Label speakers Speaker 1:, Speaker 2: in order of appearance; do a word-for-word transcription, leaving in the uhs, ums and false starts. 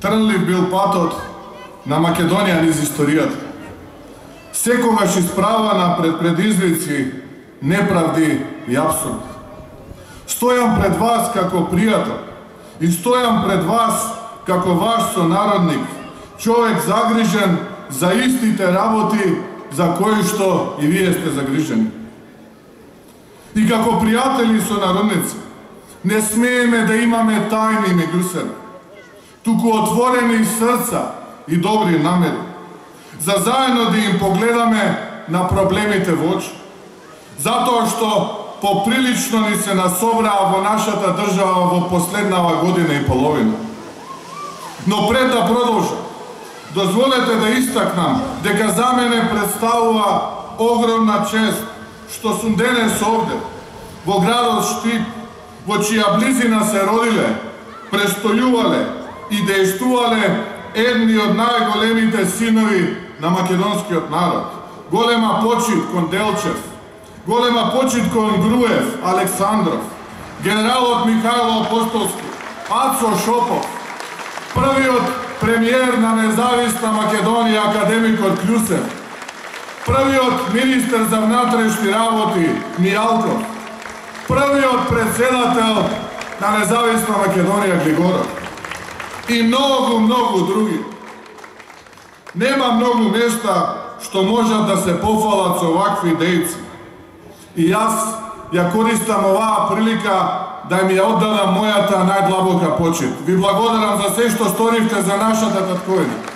Speaker 1: Трнлив бил патот на Македонија низ историјата. Секогаш исправана пред предизвици, неправди и абсурд. Стојам пред вас како пријател и стојам пред вас како ваш сонародник, човек загрижен за истите работи за кои што и вие сте загрижени. И како пријатели и сонародници, не смееме да имаме тајни меѓу себе, туку отворени срца и добри намери, за заедно да им погледаме на проблемите во очи, затоа што поприлично ни се насобраа во нашата држава во последнава година и половина. Но пред да продолжам, дозволете да истакнам дека за мене представува огромна чест што сум денес овде, во градот Штип, во чија близина се родиле, престојувале и дејствувале едни од најголемите синови на македонскиот народ. Голема почит кон Делчев, голема почит кон Груев, Александров, генералот Михајло Апостолски, Ацо Шопов, првиот премиер на независна Македонија академикот Клюсев, првиот министер за внатрешни работи Мијалков, првиот председател на независна Македонија Глигоров и многу, многу други. Нема многу места што можат да се пофалат со овакви дејци. И јас ја користам оваа прилика да ми ја оддадам мојата најдлабока почит. Ви благодарам за се што сторивте за нашата татковина.